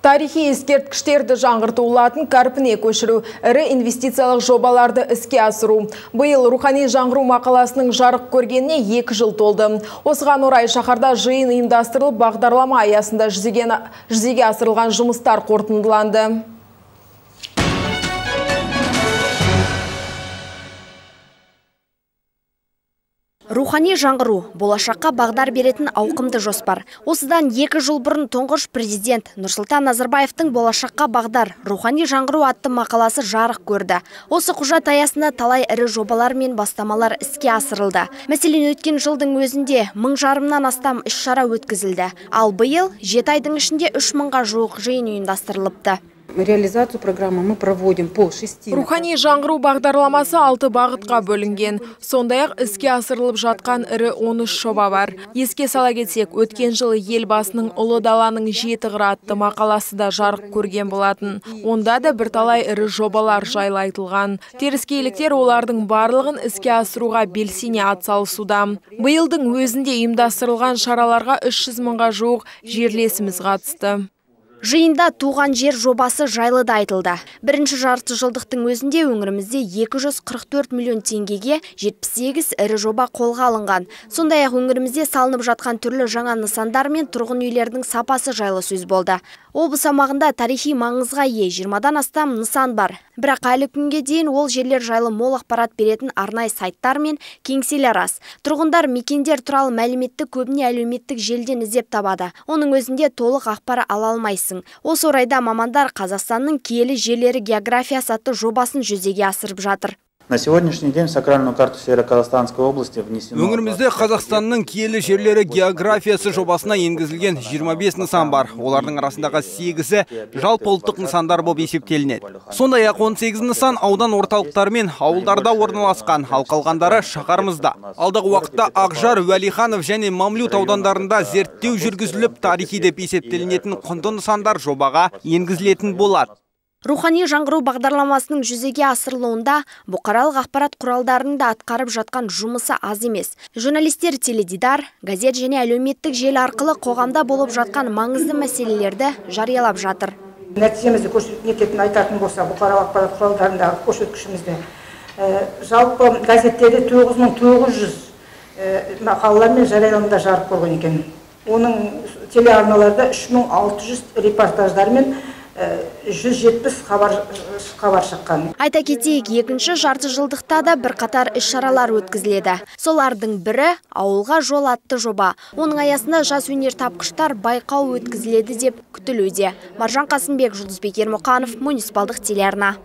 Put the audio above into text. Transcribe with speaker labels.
Speaker 1: Тарихи ескерткіштерді жаңғыртулатын қарпіне көшіру, ірі инвестициялық жобаларды іске асыру. Биыл рухани жаңғыру мақаласының жарық көргеніне 2 жыл толды. Осыған орай шаһарда жиын ұйымдастырылып, бағдарлама аясында жүзеге асырылған жұмыстар қорытындыланды.
Speaker 2: Рухани жаңғыру – болашаққа бағдар беретін ауқымды жоспар. Осыдан 2 жыл бұрын тұңғыш президент Нұрсұлтан Назарбаевтың болашаққа бағдар рухани жаңғыру атты мақаласы жарық көрді. Осы құжат аясында талай ірі жобалар мен бастамалар іске асырылды. Мәселен, өткен жылдың өзінде 1000-жарымнан астам іс-шара өткізілді. Ал биыл 7 айдың ішінде 3000-ға жуық жиын ұйымдастырылыпты.
Speaker 3: Реализацию программы мы проводим по 6.
Speaker 1: Рухани жаңғыру бағдарламасы 6 бағытқа бөлінген. Сондай-ақ іске асырылып жатқан ірі 13 жоба бар. Еске сала кетсек, өткен жылы елбасының ұлы даланың 7 қыры атты мақаласы да жарық көрген болатын. Онда да бірталай ірі жобалар жайлы айтылған. Теріскейліктер олардың барлығын іске асыруға белсене атсалысуда. Биылдың өзінде ұйымдастырылған шараларға 300 мыңға жуық жерлесіміз қатысты.
Speaker 2: Жиында туған жер жобасы жайлы да айтылды. Бірінші жарты жылдықтың өзінде өңірімізде 244 миллион теңгеге 78 ірі жоба қолға алынған. Сондай-ақ өңірімізде салынып жатқан түрлі жаңа нысандар мен тұрғын үйлердің сапасы жайлы сөз болды. Облыс аумағында тарихи маңызға ие 20-дан астам нысан бар. Бірақ әлі күнге дейін ол жерлер жайлы мол ақпарат беретін арнайы сайттар мен кеңселер аз. Тұрғындар мекендер туралы мәліметті көбіне әлеуметтік желіден іздеп табады. Оның өзінде толық ақпарат ала алмайсың. Осы орайда мамандар Қазақстанның киелі жерлері географиясы атты жобасын жүзеге асырып жатыр.
Speaker 4: На сегодняшний день в сакральную карту Северо-Казахстанской области внесено...
Speaker 5: Өңірімізде Қазақстанның киелі жерлері географиясы жобасына енгізілген 25 нысан бар. Олардың арасындағы 8-і жалпы ұлттық нысандар болып есептелінеді. Сондай-ақ 18 нысан аудан орталықтары мен ауылдарда орналасқан, ал қалғандары шаһарымызда. Алдағы уақытта Ақжар, Уәлиханов және Мамлют аудандарында зерттеу жүргізіліп, тарихи деп есептелінетін құнды нысандар жобаға енгізілетін болады.
Speaker 2: Рухани жаңғыру бағдарламасының жүзеге асырылуында бұқаралық ақпарат құралдарында атқарып жатқан жұмысы аз емес. Журналистер теледидар, газет және әлеуметтік желі арқылы қоғамда болып жатқан маңызды мәселелерді жариялап жатыр.
Speaker 6: Нәтижемізді көрсететін айтатын болса, бұқаралық ақпарат құралдарындағы көрсеткішімізді. Жалпы газеттерде 9900 мақалалар мен жарияланымдар жарық көрген екен. Оның телеарналарда 3600 репортаждар мен 170 хабар шыққан.
Speaker 2: Айта кетейік, екінші жарты жылдықта да бірқатар іс-шаралар өткізіледі. Солардың бірі ауылға жол атты жоба. Оның аясында жас өнертапқыштар байқау өткізіледі деп күтілуде. Маржан Қасымбек, Жұлдызбек Ермұқанов, муниципалдық телеарна.